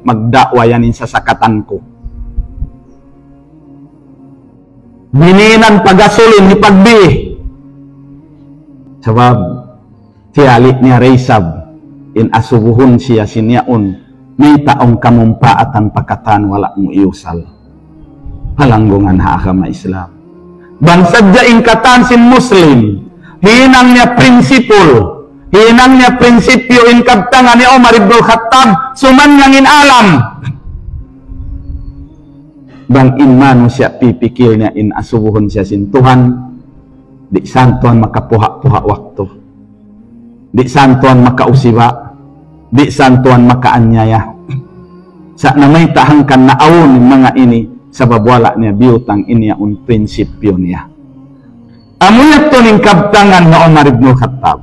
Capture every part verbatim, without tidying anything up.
magda'wa yan in sasakatan ku. Bininan pagasulin ni pagbi. Sabab, tiyali' niya da isab, in asubuhun siya sin yaun, mayta' awn kamumpaatan pa katan wala' mu iyusal. Palanggungan ha agama Islam. Bang sadja in katan sin Muslim, hinang niya prinsipul, hinang niya prinsipyu in kabtangan ni Umar ibn Khattab, sumannang in alam. Bang in manusiya' pipikil niya in asubuhun siya sin Tuhan, di' san tuwan makapuha'-puha' waktu. Di' san tuwan makausiba, di' san tuwan makaanyaya. Sa' na mayta' hangkan naawn in manga ini, sabab wala' niya biyutang in yaun prinsipyu niya. Amu yadtu in kabtangan ni Umar ibn Khattab.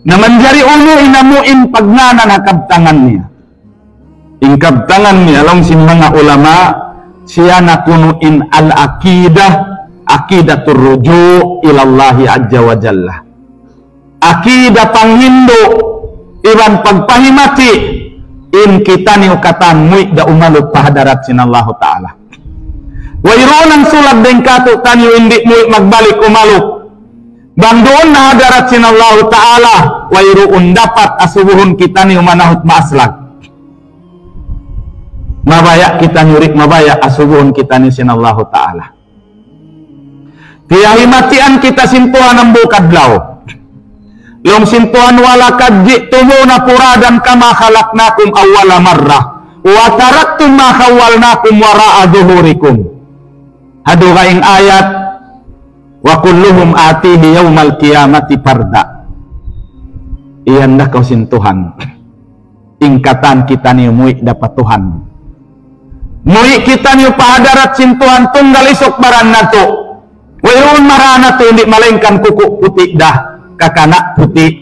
Na manjari unu in amu in pagngānan ha kabtangan niya. In kabtangan niya laung sin manga ulama, siya na kunu' in al-aqidah, aqidatur ruju' ilallahi azza wa jalla. Aqida panghindu' iban pagpahimati in kitaniyu katan muwi' da umalup pa hadarat sin Allahu Ta'ala. Wayruun nangsulag dayn kātu'niyu in di' muwi' magbalik umalup. Bang duun na hadarat sin Allahu Ta'ala, wayruun dapat asubuhun kitaniyu manahut maaslag. Mabaya' kitaniyu di' mabaya' asubuhun kitaniyu sin Allahu Ta'ala. Piyahimatian kita sin Tuhan hambuuk adlaw. Laung sin Tuhan, ولقد جئتمونا فرادا كما خلقناكم أول مرة وتركتم ما خولناكم وراء ظهوركم. Ha dugaing ayat, وكلهم آتيه يوم القيامة فردا. Iyan da kaw sin Tuhan. In katan kitaniyu muwi' da pa Tuhan. Muwi' kitaniyu pa hadarat sin Tuhan tunggal isuk baran natu'. Wayruun mara natu' di' malaingkan kuku' puti' da. Kakana' puti'.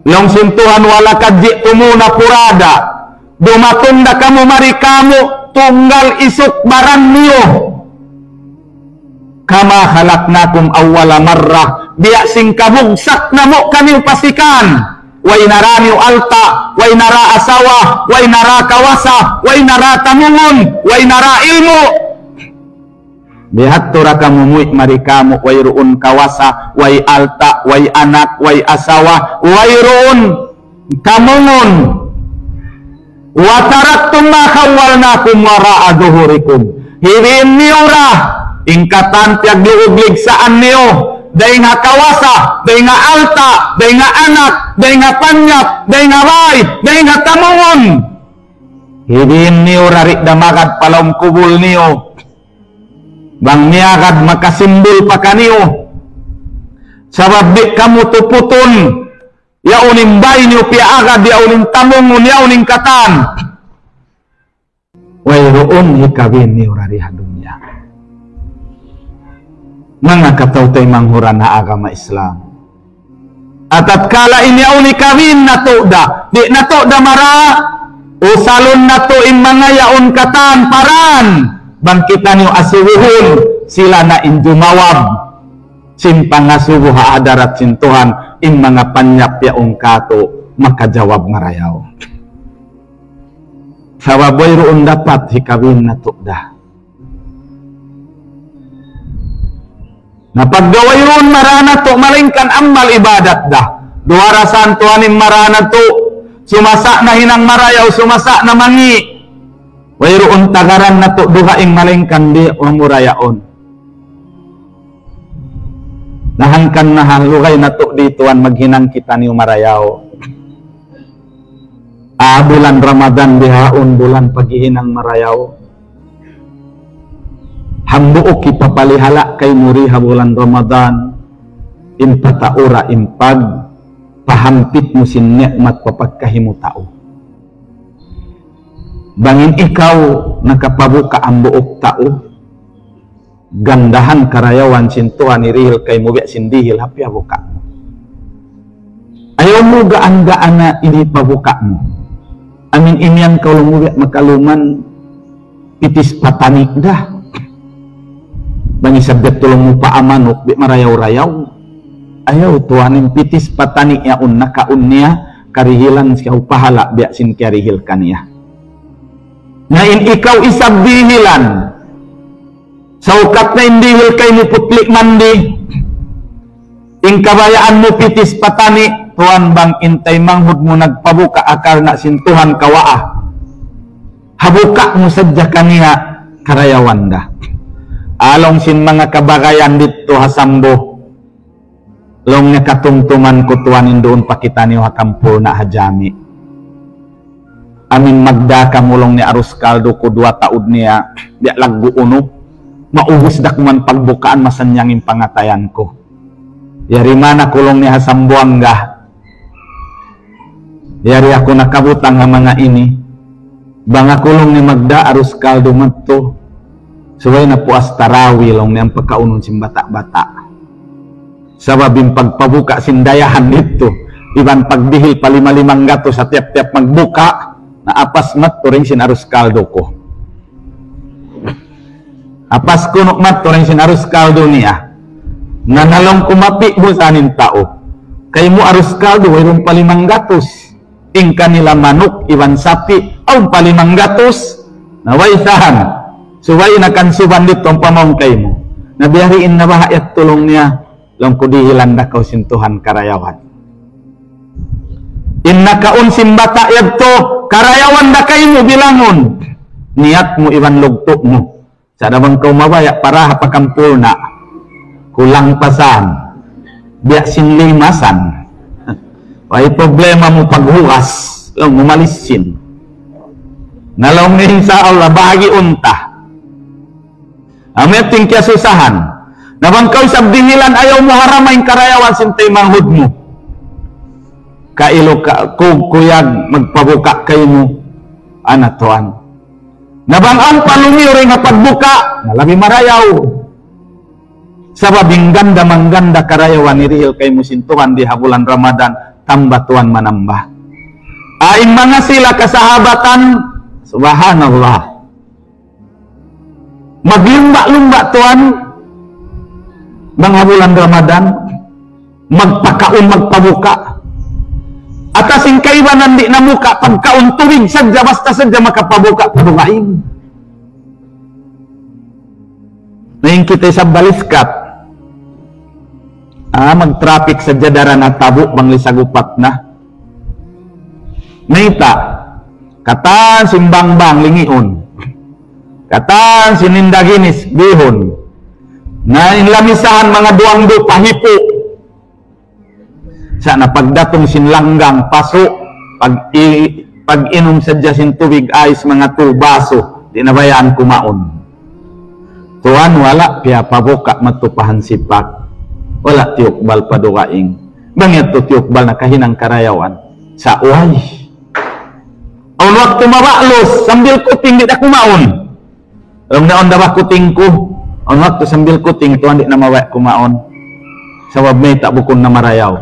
Laung sin Tuhan, ولقد جئتمونا فرادا. Dumatung da kamu mari kamu tunggal isuk baran niyu. كما خلقناكم أول مرة. Biya' sin kabugsak namu' kaniyu pasikan. Way nara niyu alta', way nara asawa, way nara kawasa, way nara tamungun, way nara ilmu'. Bihadtu da kamu muwi' mari kamu, wayruun kawasa, way alta', way anak, way asawa, wayruun tamungun. وتركتم ما خولناكم وراء ظهوركم. Hibiin niyu da in katan piyagluug-ligsaan niyu, dayn ha kawasa, dayn ha alta', dayn ha anak, dayn ha panyap, dayn ha bay, dayn ha tamungun. Hibiin niyu da di' da magad pa lawm kubul niyu. Bang miyagad makasimbul pa kaniyu. Sabab di' kamu tuputun. Yaun in bay niyu piyaagad, yaun in tamungun, yaun in katan. Wayruun hikabin niyu da di ha dunya. Manga kataw-taymanghuran ha agama Islam. Atatkala in yaun hikabin natu' da, di' natu' da mara, usalun natu' in manga yaun katan pa dan. Bang kitaniyu asubuhun, sila na in jumawab sin pangasubu ha hadarat sin Tuhan, in manga panyap yaun katu' makajawab marayaw. Sabab wayruun dapat hikabin natu' da. Na pagga wayruun mara natu' malaingkan amal ibadat da. Duwa ra san tuwan in mara natu', sumasa' na hinang marayaw, sumasa' na mangi'. Wayruun tagaran natu' dugaing malaingkan di' wa mura yaun. Na hangkan na ha lugay natu' di tuwan maghinang kitaniyu marayaw. Ah, bulan Ramadan bihaun bulan paghihinang marayaw. Hambuuk hipapalihala' kaymu di ha bulan Ramadan, in pataura in pagpahampit mu sin ni'mat pa pagkahi mu tau. Bang in ikaw nakapabuka' hambuuk tau, gandahan karayawan sin Tuhan hirihil kaymu biya' sin dihil ha piyabuka' mu. Ayaw mu gaan-gaana ini pabuka' mu. Amin imiyan kaw laung mu biya' makaluman pitis patani' da. Bang isab biya' tu laung mu paa manuk biya' marayaw-rayaw. Ayaw tuwan in pitis patani' yaun nakaun niya, karihilan siya pahala' biya' sin kiyarihil kaniya. Na in ikaw isab dihilan, saukat na in dihil kaymu putli' mandi, in kabayaan mu pitis patani, tuwan bang in taymanghud mu nagpabuka' karna' sin Tuhan kawaa. Ha buka' mu sadja kaniya karayawan da. Laung sin manga kabagayan didtu ha Sambu. Laung niya katumtuman ku tuwan in duun pa kitaniyu ha Kampurna' ha jami. Amin magdā kamu laung niya arus kaldu ku duwa taud niya, biya' laggu' unu. Maubus da kuman pagbukaan masannyang in pangatayan ku. Yari man aku laung niya ha Sambuwanga. Yari aku nakabutang ha manga ini. Bang aku laung niya magdā arus kaldu madtu. Subay na puas tarawi laung niya in pakaunun sin bata'-bata'. Sabab in pagpabuka' sin dayahan didtu. Iban pagdihil pa lima-limanggatus ha tiyap-tiyap magbuka'. Na apas madtu dayn sin arus kaldu ku. Apas kunu' madtu dayn sin arus kaldu niya. Na laung ku mapi' mu sa in tau. Kaymu arus kaldu, wayruun pa limanggatus. In kanila manuk, iban sapi', awn pa limanggatus. Na way sahan. Subay na kansuban didtu pamawn kaymu. Na biya' diin na baha' yadtu laung niya. Laung ku dihilan da kaw sin Tuhan karayawan. In nakaun sin bata' yadtu, karayawan da kaymu bilangun. Niyat mu iban lugtu' mu. Sa' da bang kaw mabaya' para ha Pakampurna'. Kulang pa san. Biya' sin lima san. Way problema mu paghugas. Laung mu malisin. Na laung niya insya Allah, bahagiun ta. Amu yadtu in kiyasusahan. Na bang kaw isab dihilan ayaw mu harama in karayawan sin taymanghud mu. Kailu ka, kug-, kuyag, magpabuka' kaymu. Ana tuwan. Na bang awn pa lumiyu dayn ha pagbuka', na labi marayaw. Sabab in ganda-mangganda karayawan hirihil kaymu sin Tuhan di ha bulan Ramadan, tamba tuwan manamba. Awn manga sila kasahabatan, subhanallah. Maglumba'-lumba' tuwan, bang ha bulan Ramadan, magpakaun, magpabuka'. Atas in kaibanan di' namuka', pagkaun tubig sadja, basta sadja makapabuka', padugaing. Na in kita isab baliskat. Ah, mag-traffic sadja daran ha Tabu', bang lisag upat na. Mayta', katan sin bangbang lingiun. Katan sin indaginis bihun. Na in lamisahan manga duwang du pahipu. Sa' na pagdatung sin langgang pasu', pag i-, pag-inum sadja sin tubig ais manga tu basu, di' na bayaan kumaun. Tuwan wala' piyapabuka' matupahan sipak. Wala' tiyukbal padugaing. Bang yadtu tiyukbal na kahinang karayawan. Sa' way. Awn waktu mabalus, sambil kuting di' da kumaun. Laung niya awn da ba kuting ku? Awn waktu sambil kuting tuwan di' na mabaya' kumaun. Sabab mayta' bukun na marayaw.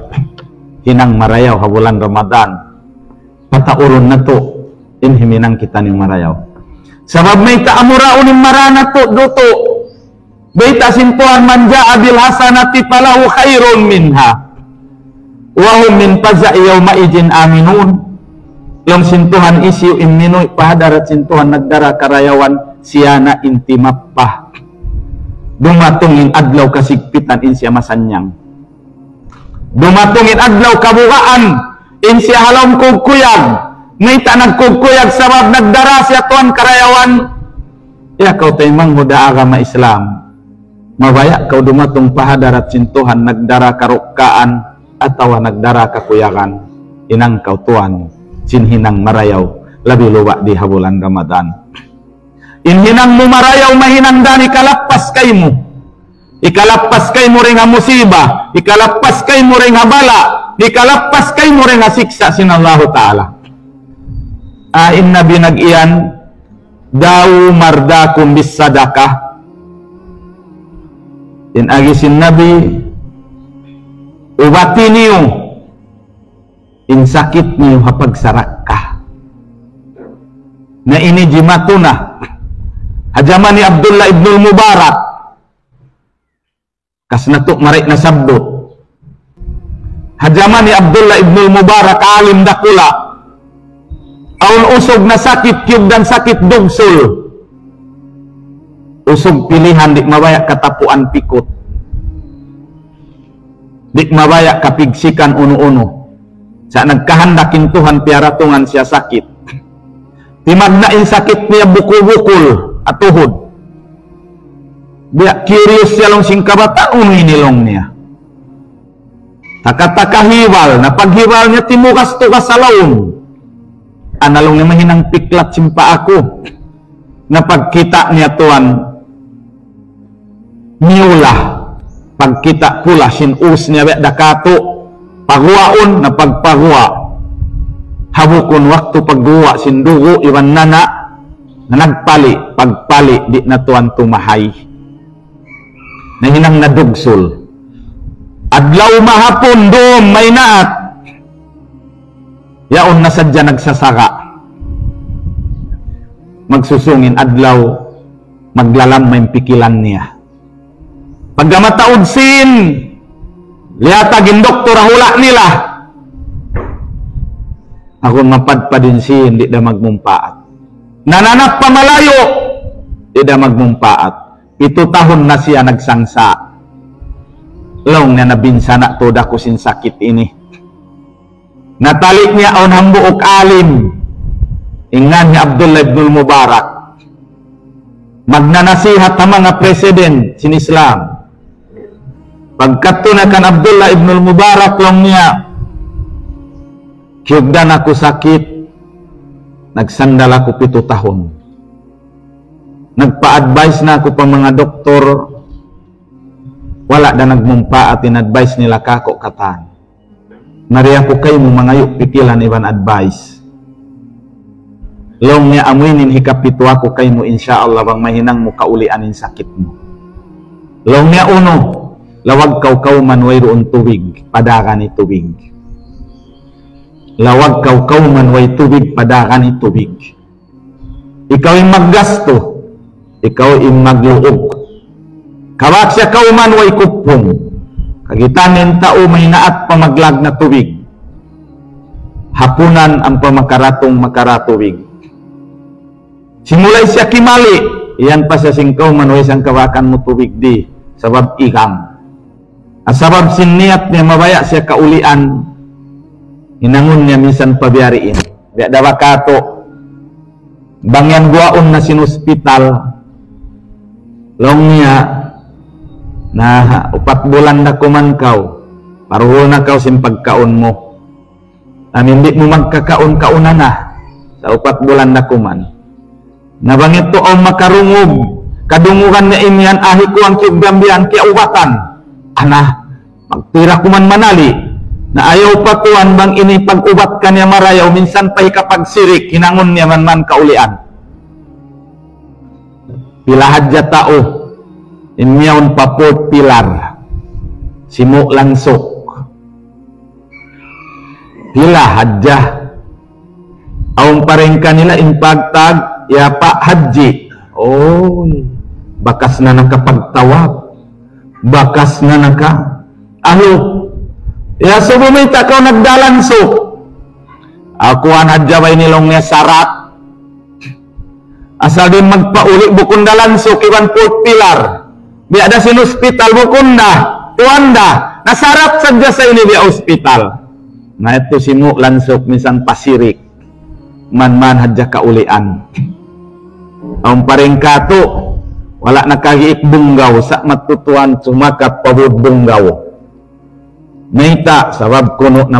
Hinang marayaw ha bulan Ramadan. Pataurun natu' in himinang kitaniyu marayaw. Sabab mayta' amura unu in mara natu' dutu'. Bayta' sin Tuhan, من جاء بالحسنة فله خير منها وهم من فزع يومئذ آمنون. Laung sin Tuhan, hisiyu in minuwi' pa hadarat sin Tuhan nagdara karayawan, siya na in timappa. Dumatung in adlaw kasigpitan in siya masannyang. Dumatung in adlaw kabugaan, in siya ha lawm kugkuyag. Mayta' nagkugkuyag? Sabab nagdara siya tuwan karayawan. Ya kaw taymanghud ha agama Islam. Mabaya' kaw dumatung pa hadarat sin Tuhan nagdara karukkaan atawa nagdara kakuyagan. Hinang kaw tuwan sin hinang marayaw, labi luba' di ha bulan Ramadan. In hinang mu marayaw mahinang dayn ha kalappas kaymu. Hikalappas kaymu dayn ha musiba, hikalappas kaymu dayn ha bala', hikalappas kaymu dayn ha siksa' sin Allahu Ta'ala. Ah, in Nabi nag-iyan, داووا مرضاكم بالصدقة. In agi sin Nabi, ubati niyu in sakit niyu ha pagsarakka. Na ini jimatu na. Ha jaman hi Abdullah ibnul Mubarak, kas natu' mari nasabbut. Ha jaman hi Abdullah ibnul Mubarak, alim dakula'. Awn usug na sakit, kiyugdan sakit dugsul. Usug pilihan, di' mabaya' katapuan pikut. Di' mabaya' kapigsikan unu-unu. Sa' nagkahandak in Tuhan piyaratungan siya sakit. Timagna' in sakit niya bukul-bukul, ha tuhud. Biya' curious siya laung sin kabata', unu ini laung niya. Taka-taka hibal, na paghibal niya timugas-tugas ha lawm. Ana laung niya mahinang piklat sin paa ku. Na pagkita' niya tuwan, miyula. Pagkita' pula sin us niya biya' da katu'. Paguwaun, na pagpaguwa'. Ha bukun waktu pagguwa' sin dugu' iban nana', na nagpali', pagpali' di' na tuwan tumahay. Nahinang na dugsul. Adlaw mahapun dum maynaat. Yaun na sadja nagsasaga. Magsusung in adlaw, maglalam in pikilan niya. Pagka mataud sin, liyatag in doktor ha hula' nila. Agun mapadpad in sin, di' da magmumpaat. Nananap pa malayu', di' da magmumpaat. Pitu tahun na siya nagsangsa'. Laung niya, nabinsana' tuud aku sin sakit ini. Natali' niya awn hambuuk alim. In ngan hi Abdullah ibnul Mubarak. Magnanasihat ha manga president sin Islam. Pagkadtu na kan Abdullah ibnul Mubarak laung niya, kiyugdan aku sakit, nagsandal aku pitu tahun. Nagpa-advise na aku pa manga doktor, wala' da nagmumpaat in advice nila kāku' katan. Mari aku kaymu mangayu' pikilan iban advice. Laung niya, amu ini in hikapitu aku kaymu, insya Allah bang mahinang mu kaulian in sakit mu. Laung niya, unu, lawag kaw kawman wayruun tubig, padagan in tubig. Lawag kaw kawman way tubig, padagan in tubig. Ikaw in maggastu, ikaw in magluug. Kabak siya kawman way kuppung. Kagitan in tau maynaat pa maglag na tubig. Hapunan ampa makaratung makara tubig. Simulay siya kimali', iyan pa siya sin kawman, way sangkabakan mu tubig di, sabab igang. Sabab sin niyat niya mabaya' siya kaulian, hinangun niya minsan pa biyariin. Biya' da ba katu', bang yan guwaun na sin hospital, laung niya, na upat bulan da kuman kaw, paruhul na kaw sin pagkaun mu. Amin di' mu magkakaun-kaun na, sa' upat bulan da kuman. Na bang yadtu awn makarungug, kadungugan niya in yan, ahi ku ang kiyugdan biya' yan, kiyaubatan. Ana, magtira kuman manali'. Na ayaw pa tuwan bang ini pag-ubat kaniya marayaw, minsan pa hikapagsirik, hinangun niya man man kaulian. Pila hadja tau in miyawn pa fourth pillar, simu' langsuk. Pila hadja. Awn pa dayn kanila in pagtag, ya Pak Haji. Uy, bakas na nakapagtawaf. Bakas na naka. Anu, ya subu mayta' kaw nagdalansuk. Aku an hadja bay nilung niya sarat. Asal di' magpauli' bukun da lansuk iban fourth pillar. Biya' da sin hospital bukun da, kuwan da. Na sarat sadja sa ini biya' hospital. Na yadtu simu' lansuk minsan pa sirik. Man-man hadja kaulian. Awn pa dayn katu', wala' nakagiik bunggaw, sa' matutuan sumakat pa bud bunggaw. Mayta', sabab kunu' na